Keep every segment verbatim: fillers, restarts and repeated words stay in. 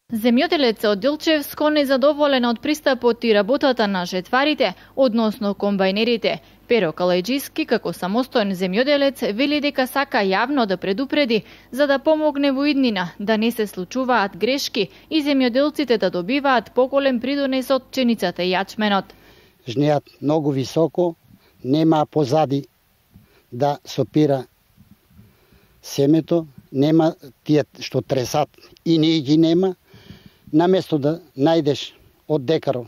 Земјоделец од Дилчевско незадоволен од пристапот и работата на жетварите, односно комбајнерите. Перо Калајџиски, како самостоен земјоделец, вели дека сака јавно да предупреди за да помогне во иднина да не се случуваат грешки и земјоделците да добиваат поголем придонес од пченицата и јачменот. Жнеат многу високо, нема позади да сопира семето, нема тие што тресат и не ги нема. Наместо да најдеш од декаро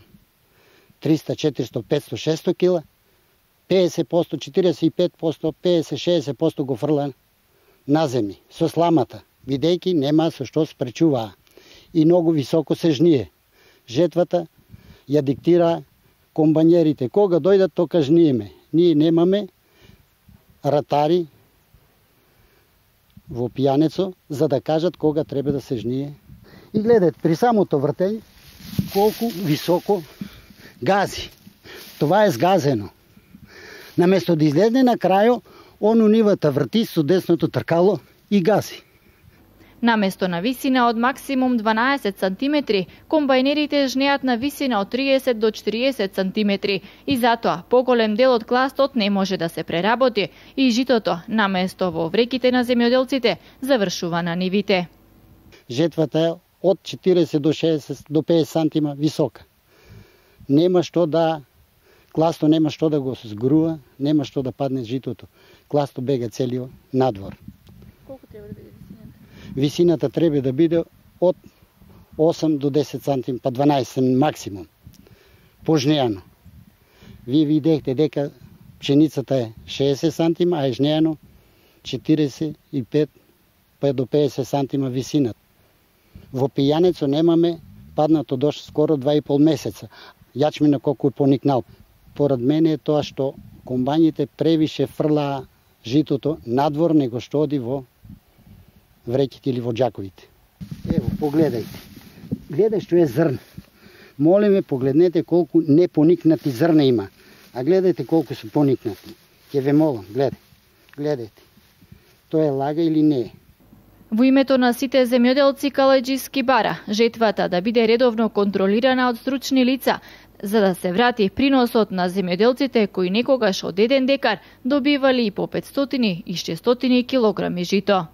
триста, четиристо, петсто, шестсто кила, педесет проценти, четиридесет и пет проценти, педесет, шеесет проценти го фрла на земји со сламата, бидејќи нема со што спречуваа. И многу високо се жние. Жетвата ја диктира комбањерите. Кога дојдат, тока жниеме. Ние немаме ратари во пијанецо за да кажат кога треба да се жние. И гледате, при самото вртење, колку високо гази. Това е сгазено. Наместо да излезне на крајо, он унивата врти со десното тркало и гази. Наместо на висина од максимум дванаесет сантиметри, комбајнерите жнеат на висина од триесет до четириесет сантиметри и затоа поголем дел од кластот не може да се преработи и житото, наместо во вреките на земјоделците, завршува на нивите. Жетвата е од четириесет до шеесет до педесет сантима висока. Нема што да класто нема што да го сгруа, нема што да падне житото. Класто бега целиот надвор. Колку треба да биде висината? Висината треба да биде од осем до десет сантима, па дванаесет максимум. Пожнеано. Вие видехте дека пшеницата е шеесет сантима, а е жнеано четириесет и пет па до педесет сантима висината. Во пијанецо немаме паднато дожд скоро два и пол месеца. Јачмина колку е поникнал. Поред мене е тоа што комбањите превише фрлаа житото надвор него што оди во вреките или во џаковите. Ево, погледајте. Гледај што е зрн. Молиме, погледнете колку непоникнати зрна има. А гледајте колку се поникнати. Ќе ве молам, гледај. Гледајте. Тоа е лага или не е? Во името на сите земјоделци Калајџиски бара жетвата да биде редовно контролирана од стручни лица, за да се врати приносот на земјоделците кои некогаш од еден декар добивали и по петстотини и шестстотини килограми жито.